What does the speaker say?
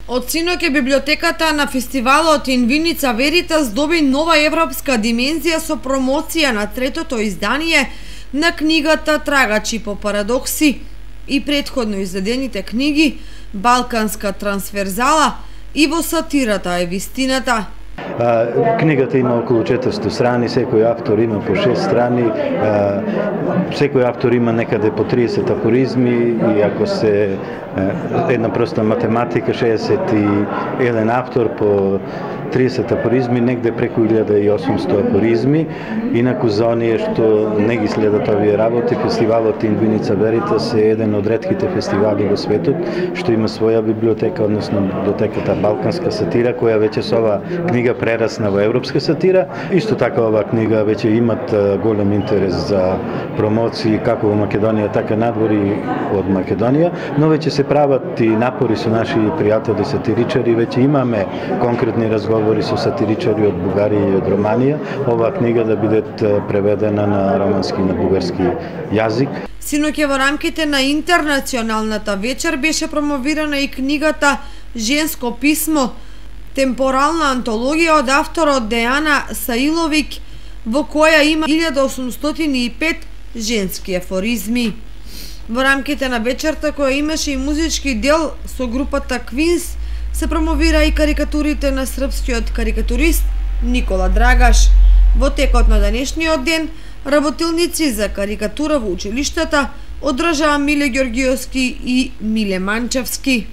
Од синоќ библиотеката на фестивалот In Vinica Veritas доби нова европска димензија со промоција на третото издание на книгата Трагачи по парадокси и претходно издадените книги Балканска трансверзала и Во сатирата е вистината. Книгата има околу 400 страни, секој автор има по 6 страни, секој автор има некаде по 30 афоризми и ако се една проста математика, 61 автор по 30 афоризми, негде преку 1800 афоризми. Инаку за оние што не ги следат овие работи, фестивалот In Vinica Veritas е еден од ретките фестивали во светот што има своја библиотека, односно библиотеката Балканска сатира, која веќе со оваа книга прерасна во европска сатира. Исто така оваа книга веќе имат голем интерес за промоции како во Македонија, така надвори од Македонија, но веќе се прават и напори со наши пријатели сатиричари, веќе имаме конкретни разговори со сатиричари од Бугарија и од Романија, оваа книга да биде преведена на романски и на бугарски јазик. Синоќ во рамките на интернационалната вечер беше промовирана и книгата Женско писмо, темпорална антологија од авторот Дејана Саиловиќ, во која има 1805 женски афоризми. Во рамките на вечерта, која имаше и музички дел со групата Квинс, се промовира и карикатурите на српскиот карикатурист Никола Драгаш. Во текот на денешниот ден, работилници за карикатура во училиштата одржаа Миле Ѓорѓиевски и Миле Манчевски.